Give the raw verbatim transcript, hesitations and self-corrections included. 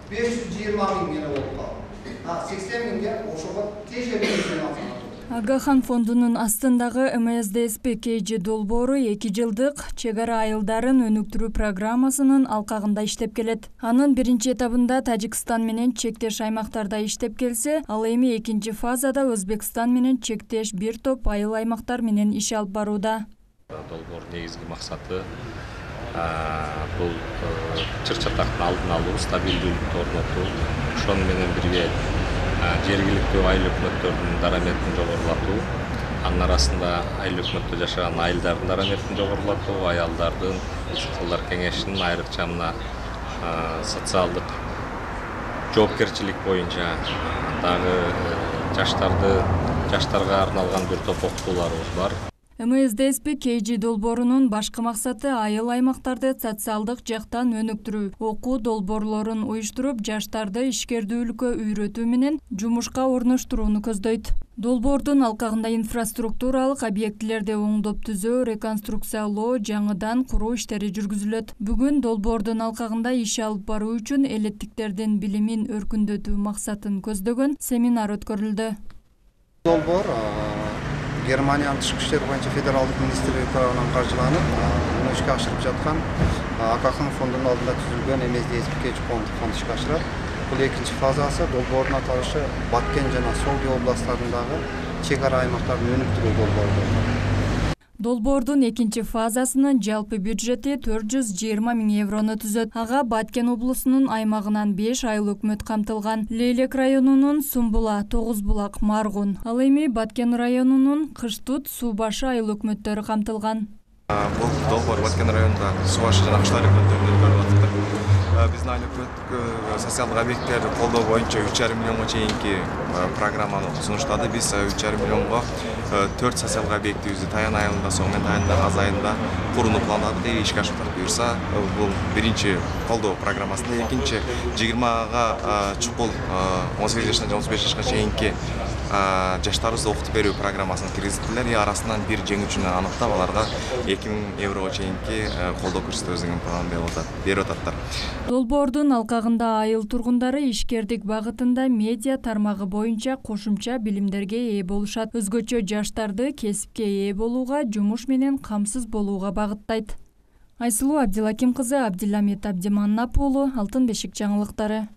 беш жүз жыйырма миң гана болуп калды. А сексен миңге ошого тежелүү. Агахан фондунун астындагы эм эс дэ эс пи кей джи долбоору эки жылдык чек ара айылдарын өнүктүрүү программасынын алкагында иштеп келет. Анын биринчи этабында Тажикстан менен чектеш аймактарда иштеп келсе, ал эми экинчи фазада Өзбекстан менен чектеш бир топ айыл аймактар менен иш алып барууда. Долбоордун негизги максаты бул чыр-чатактын алдын алуу, стабилдүүлүктү орнотуу, ошону менен бирге жергиликтүү айыл өкмөттөрдүн дараметин жогорулатуу, анын арасында айыл өкмөттө жашаган айылдардын дараметин жогорулатуу, аялдардын кыздар кеңешинин айрыкча мына социалдык жоопкерчилик боюнча дагы жаштарды жаштарга арналган бир топ окутууларыбыз бар. эм эс дэ эс пи кей джи долбоорунун башкы максаты айыл аймактарды социалдык жактан өнүктүрүү, окуу долбоорлорун уюштуруп, жаштарды ишкердүүлүккө үйрөтүү менен жумушка орноштурууну көздөйт. Долбоордун алкагында инфраструктуралык объектилерди оңдоп түзөө, реконструкциялоо, жаңыдан куруу иштери жүргүзүлөт. Бүгүн долбоордун алкагында иш алып баруу үчүн элеттиктердин билимин өркүндөтүү максатын көздөгөн семинар өткөрүлдү. Долбоор Германиянын тышкы иштер боюнча федералдык министрлиги тарабынан каржыланып, муну ишке ашырып жаткан Агахан фондунун алдында түзүлгөн эм эс дэ эс пи кей джи фонд ишке ашырат. Бул экинчи фазасы долбоордун аталышы Баткен жана Солди областтарындагы чек ара аймактарын өнүктүрүү долбоору. Долбоордун экинчи фазасынын жалпы бюджети төрт жүз жыйырма миң еврону түзөт. Ага Баткен облусунун аймагынан беш айыл өкмөт камтылган. Лейлек районунун Сумбула, Тогуз булак, Маргун, ал эми Баткен районунун Кыштут, Суу башы айыл өкмөттөрү камтылган. Бул долбоор Баткен районунда Суу башы жана Кыштар өкмөттөрүндө өткөрүлүп атат. Биздин айыл өкмөт социалдык объекттерди колдоо боюнча үч жарым миллионго чейинки программаны сунуштады. Биз үч жарым миллионго төрт социалдык объектибизди Таян айылында, Соңмен Таянда, Каз айылында курууну пландадык. Ишке ашырып буюрса, бул биринчи колдоо программасында, экинчи жыйырмага чукул он сегиз жаштан жана отуз беш жашка чейинки жаштарыбызды окутуп берүү программасына киргизиптилер. Арасынан бир жеңүүчүнү аныктап, аларга эки миң еврого чейинки колдоо көрсөтөбүз деген план берип ататтар. Долбоордун алкагында айыл тургундары ишкердик багытында медиа тармагы боюнча кошумча билимдерге ээ болушат. Өзгөчө жаштарды кесипке ээ болууга, жумуш менен камсыз болууга багыттайт. Айсылуу Абдилаким кызы, Абдиламит Абдиманнап уулу, Алтын бешик жаңылыктары.